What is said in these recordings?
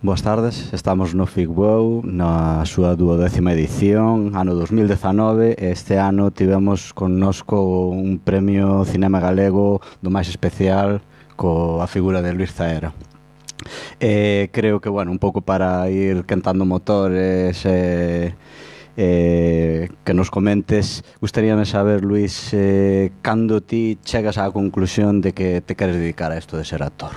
Boas tardes, estamos no FICBOW na súa 12ª edición, ano 2019, e este ano tivemos connosco un premio Cinema Galego do máis especial coa figura de Luís Zaera. Creo que, bueno, un pouco para ir quentando motores que nos comentes, gustaríame saber, Luís, cando ti chegas á conclusión de que te queres dedicar a isto de ser actor?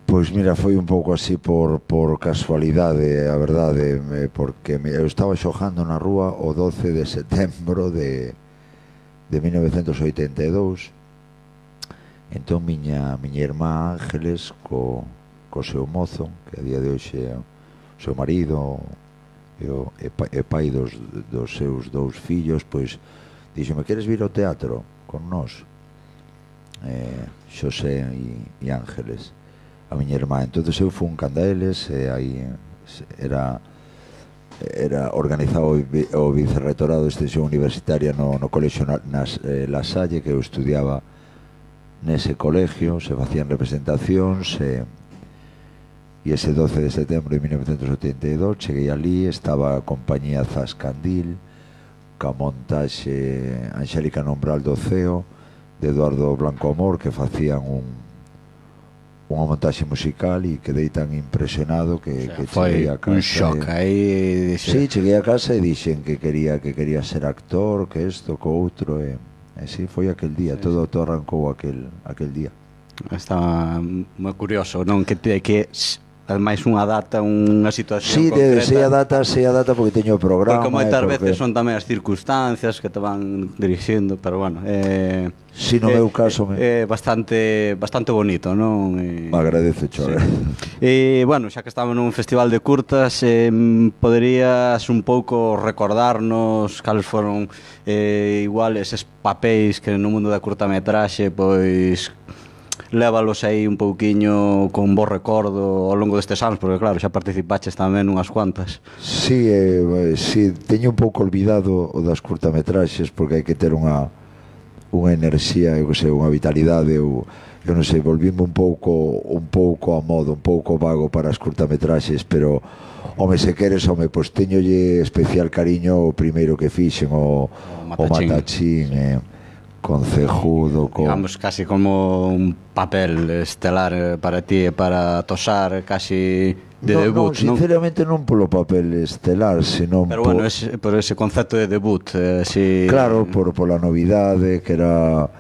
Pois mira, foi un pouco así por casualidade, a verdade, porque eu estaba xogando na rúa o 12 de setembro de 1982. Entón miña irmá Ángeles co seu mozo, que a día de hoxe é o seu marido e pai dos seus dous fillos, pois díxome: queres vir ao teatro con nós? Xosé e Ángeles, a miña irmá. Entón eu fui canda eles, e aí era organizado o vicerrectorado de extensión universitaria no colexio La Salle, que eu estudiaba nese colegio. Se facían representacións, e ese 12 de setembro de 1982 cheguei ali, estaba a compañía Zascandil ca montaxe Angélica Nombral do Ceo, de Eduardo Blanco Amor, que facían unha montaxe musical, e quedei tan impresionado que cheguei a casa. Un shock aí. Sí, cheguei a casa e dixen que quería ser actor, que isto, que outro, e sí, foi aquel día, todo arrancou aquel día. Está moi curioso, non? Que ademais unha data, unha situación concreta. Sí, a data porque teño o programa. Porque moitas veces son tamén as circunstancias que te van dirixindo, pero bueno, si no meu caso é bastante bonito, non? Agradezo, Chore. E, bueno, xa que estamos nun festival de curtas, poderías un pouco recordarnos cales foron igual eses papéis que no mundo da curtametraxe, pois lévalos aí un pouquiño con bo recordo ao longo destes anos, porque claro, xa participaches tamén unhas cuantas. Sí, teño un pouco olvidado o das curtametraxes, porque hai que ter unha enerxía, eu que sei, unha vitalidade. Eu non sei, volvíme un pouco a modo, un pouco vago para as curtametraxes, pero home, se queres, home, pois teñolle especial cariño o primeiro que fixen, o Matachín, concejudo, digamos, casi como un papel estelar para ti e para Tosar, casi de debut, non? Sinceramente non polo papel estelar, senón pero bueno, por ese concepto de debut, claro, pola novidade, que era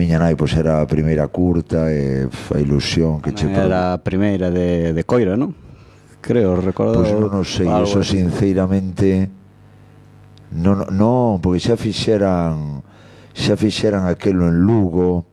miña nai, pois era a primeira curta, e a ilusión que era a primeira de Coira, non? Creo, recordo. Pois non sei, eso sinceramente non, porque xa fixeran aquelo en Lugo,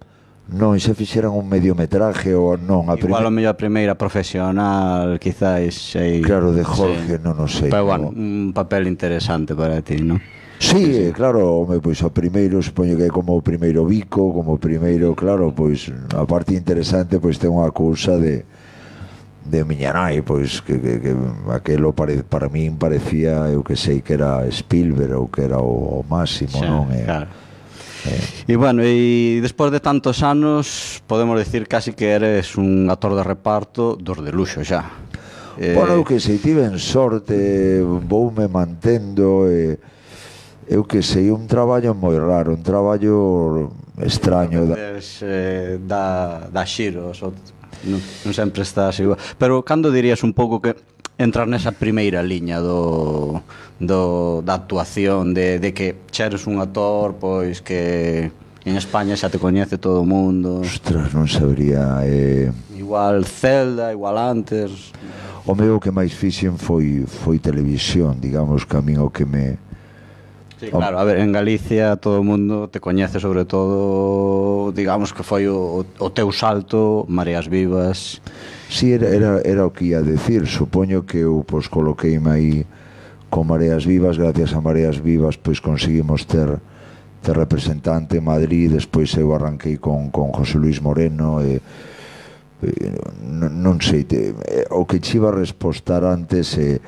non, xa fixeran un mediometraje, ou non, igual a mellor a primeira profesional, quizáis, claro, de Jorge, non o sei, pero bueno, un papel interesante para ti, non? Sí, claro, home, pois o primeiro, supoño que é como o primeiro bico, como o primeiro, claro, pois a parte interesante, pois ten unha cousa de miña nai, pois que aquelo para min parecía, eu que sei, que era Spielberg, ou que era o máximo, non? Claro. E bueno, e despois de tantos anos podemos decir casi que eres un actor de reparto dos de luxo xa. Bueno, eu que sei, tiven sorte, voume mantendo, eu que sei, un traballo moi raro, un traballo extraño. Da xiros, non sempre estás igual. Pero cando dirías un pouco que entrar nesa primeira liña da actuación, de que xa eres un actor, pois que en España xa te coñece todo o mundo? Ostras, non sabría. Igual Zelda, igual antes. O meu que máis fixen foi televisión, digamos, que a min o que me... Sí, claro, a ver, en Galicia todo o mundo te coñece, sobre todo, digamos que foi o teu salto, Mareas Vivas. Sí, era o que ia decir. Supoño que eu pois coloqueime aí con Mareas Vivas. Gracias a Mareas Vivas pois conseguimos ter representante en Madrid. Despois eu arranquei con José Luis Moreno, non sei, o que che iba a respostar antes é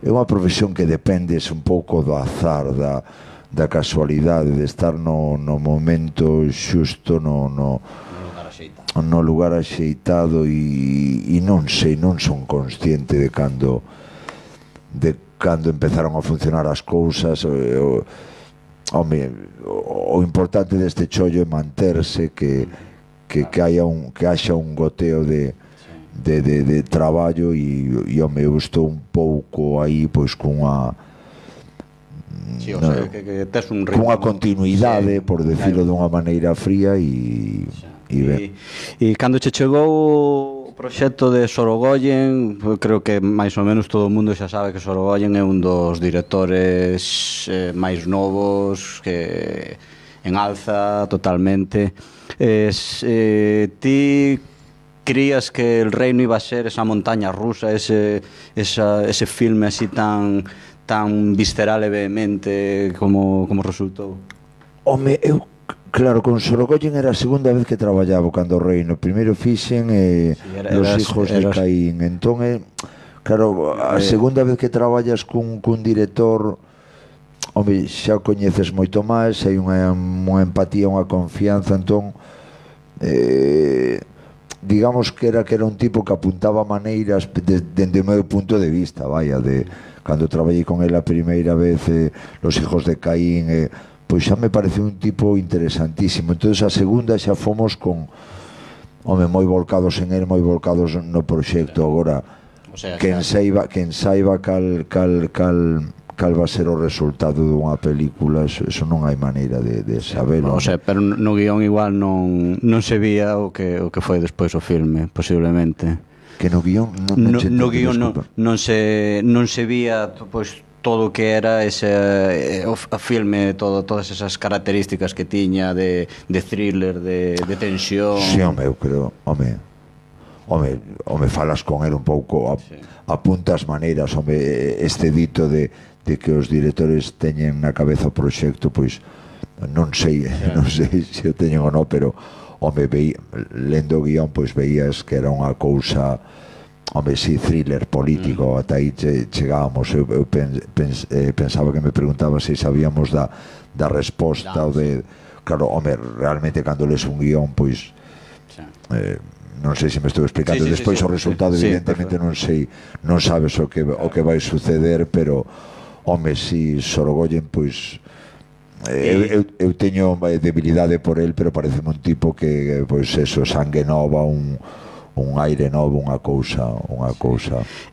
unha profesión que dependes un pouco do azar, da casualidade, de estar no momento xusto, no axeitado e non sei, non son consciente de cando empezaron a funcionar as cousas. O importante deste chollo é manterse, que haxa un goteo de traballo e home, eu estou un pouco aí pois cunha cunha continuidade, por decirlo dunha maneira fría e ben. E cando che chegou o proxecto de Sorogoyen, creo que máis ou menos todo o mundo xa sabe que Sorogoyen é un dos directores máis novos, que en alza totalmente. Ti crías que El Reino iba a ser esa montaña rusa, ese filme así tan visceral e vehemente como resultou? Home, claro, con Sorogoyen era a segunda vez que traballaba cando O Reino. Primeiro fixen Los hijos de Caín. Entón, claro, a segunda vez que traballas cun director, home, xa o coñeces moito máis, hai unha empatía, unha confianza. Entón, digamos que era un tipo que apuntaba maneiras dende o meu punto de vista, cando traballei con ele a primeira vez, Los hijos de Caín, pois xa me pareceu un tipo interesantísimo. Entón a segunda xa fomos moi volcados en ele, moi volcados no proxecto. Agora, quen saiba cal va a ser o resultado dunha película, eso non hai maneira de sabelo. Pero no guión igual non se vía o que foi despois o filme, posiblemente. Que no guión non se vía pois todo o que era o filme, todas esas características que tiña de thriller, de tensión. Si, home, eu creo, home, falas con ele un pouco, apuntas maneiras, home, este dito de que os directores teñen na cabeza o proxecto, pois non sei se o teñen ou non, pero home, lendo o guión, pois veías que era unha cousa, home, si, thriller político. Ata aí chegábamos. Eu pensaba que me preguntaba se sabíamos da resposta ou de... Claro, home, realmente cando lees un guión, pois non sei se me estou explicando. Despois o resultado evidentemente non sei, non sabes o que vai suceder, pero home, si, Sorogoyen, pois eu teño debilidade por el, pero parece un tipo que, pois eso, sangue nova, un aire novo, unha cousa.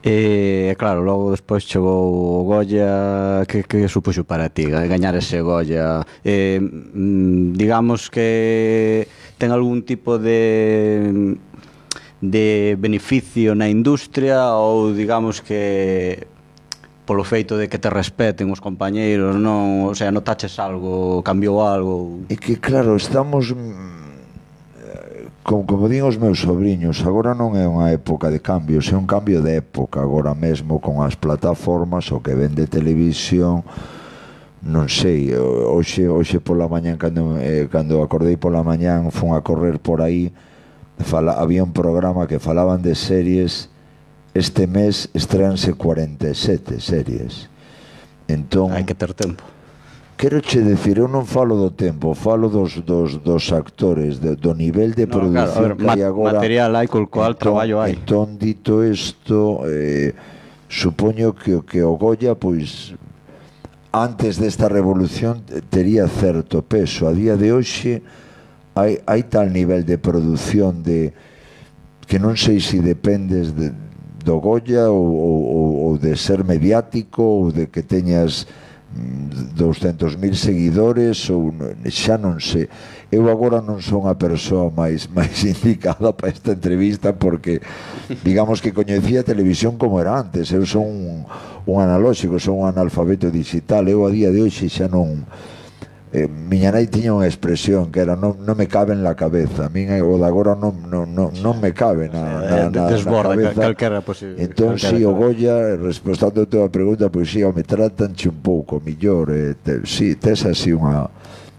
Claro, logo despois chegou o Goya. Que supuxo para ti gañar ese Goya? Digamos que ten algún tipo de beneficio na industria, ou digamos que polo feito de que te respeten os compañeiros, non? O sea, notaches algo, cambiou algo? É que, claro, estamos... Como din os meus sobriños, agora non é unha época de cambios, é un cambio de época. Agora mesmo con as plataformas, o que ven de televisión, non sei, hoxe pola mañán, cando acordei pola mañán, fun a correr por aí, había un programa que falaban de series. Este mes estreanse 47 series. Entón, hai que ter tempo. Quero che decir, eu non falo do tempo, falo dos actores, do nivel de produción que hai agora. Material hai, col cual traballo hai. Entón, dito isto, supoño que o Goya, pois, antes desta revolución tería certo peso. A día de hoxe hai tal nivel de produción que non sei se dependes do Goya ou de ser mediático, ou de que teñas 200.000 seguidores, ou xa non sei. Eu agora non son a persoa máis indicada para esta entrevista, porque digamos que coñecía a televisión como era antes. Eu son un analóxico, son un analfabeto digital. Eu a día de hoxe xa non... miña nai tiña unha expresión que era non me cabe en la cabeza. A min o de agora non me cabe na desborda cabeza. Calquera posible. Entón, si, o Goya, respondendo a tua pregunta, pois si, me tratanche un pouco millor. Si, tes así unha...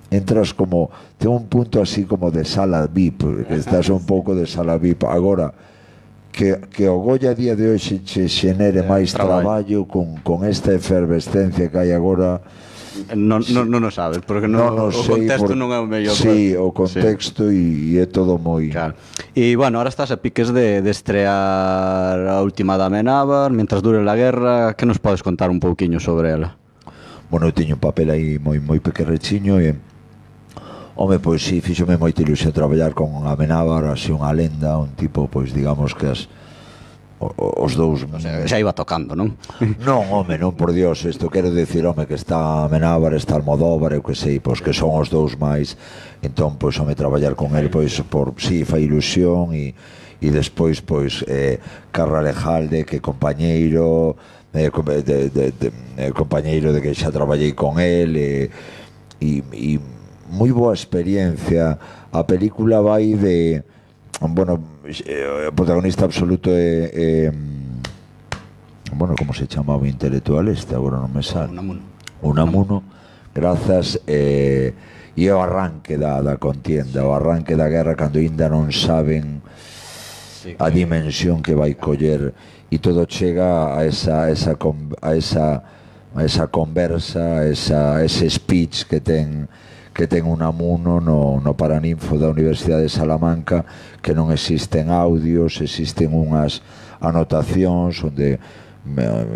Entras como... Ten un punto así como de sala VIP, que estás un pouco de sala VIP. Agora, que o Goya a día de hoxe che xenere máis traballo con esta efervescencia que hai agora... Non o sabes, porque o contexto non é o mellor. Sí, o contexto e é todo moi... Claro. E, bueno, ahora estás a piques de estrear a última da Amenábar, Mientras dure la guerra. Que nos podes contar un pouquiño sobre ela? Bueno, eu teño un papel aí moi pequerrechiño e... Home, pois sí, fíxome moita ilusión traballar con Amenábar, así unha lenda, un tipo, pois digamos que os dous... O sea, xa iba tocando, non? Non, home, non, por Dios, isto quero decir, home, que está Amenábar, está Almodóvar, eu que sei, pois que son os dous máis, entón, pois, home, traballar con el, pois, sí, fai ilusión, e despois, pois, Carra Lejalde, que compañeiro, compañeiro de que xa traballei con el, e moi boa experiencia. A película vai de... Bueno, o protagonista absoluto é bueno, como se chamaba o intelectual este, agora non me sale. Unamuno, grazas, e o arranque da contienda, o arranque da guerra, cando ainda non saben a dimensión que vai coller, e todo chega a esa conversa, ese speech que ten Unamuno no Paraninfo da Universidade de Salamanca, que non existen audios, existen unhas anotacións onde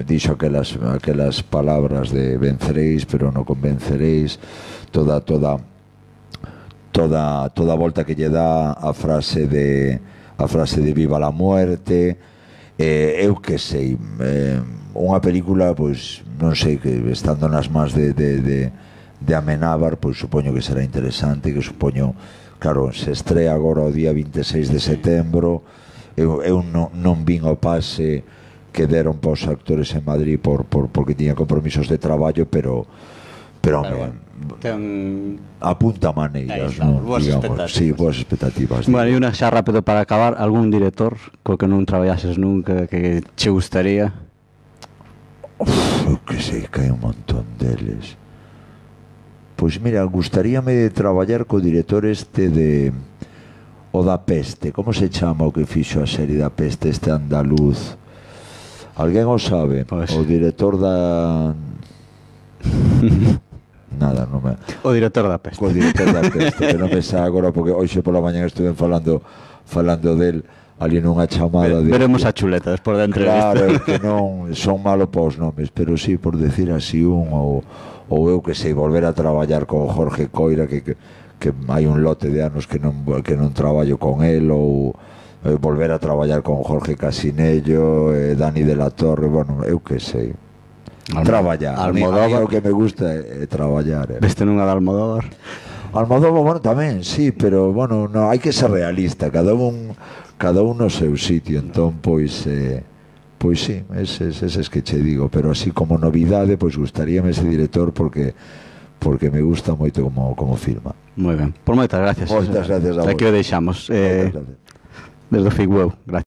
dixo aquelas palabras de venceréis pero non convenceréis, toda a volta que lle dá a frase de viva la muerte. Eu que sei, unha película, pois non sei, que estando nas mans de Amenábar, pois supoño que será interesante, que supoño, claro, se estrea agora o día 26 de setembro. Eu non vin o pase que deron para os actores en Madrid porque tiña compromisos de traballo, pero apunta maneiras, non? Boas expectativas. Sí, boas expectativas. Bueno, e unha xa rápido para acabar, algún director co que non traballases nunca que che gustaría? Eu que sei que hai un montón deles. Pois mira, gustaríame traballar co director este de o da Peste. Como se chama o que fixo a serie da Peste, este andaluz? Alguén o sabe? Pues... O director da... Nada, non me... O director da Peste. O director da Peste, que non me sa agora, porque hoxe pola mañana estuve falando del ali nunha chamada de... Veremos a chuleta despois da entrevista. Claro, que non son malo para os nomes, pero sí, por decir así ou eu que sei, volver a traballar con Jorge Coira, que hai un lote de anos que non traballo con el, ou volver a traballar con Jorge Casinello, Dani de la Torre, bueno, eu que sei. Traballar. Almodóvar, o que me gusta é traballar. Veste nunha de Almodóvar? Almodóvar, bueno, tamén, sí, pero, bueno, no, hai que ser realista, cada un no seu sitio, entón, pois sí, eses que che digo, pero así como novidade, pois gustaríame ese director porque me gusta moito como filma. Moi ben, por moitas gracias. Moitas gracias a vos. Aquí o deixamos. Desde o Figueu, gracias.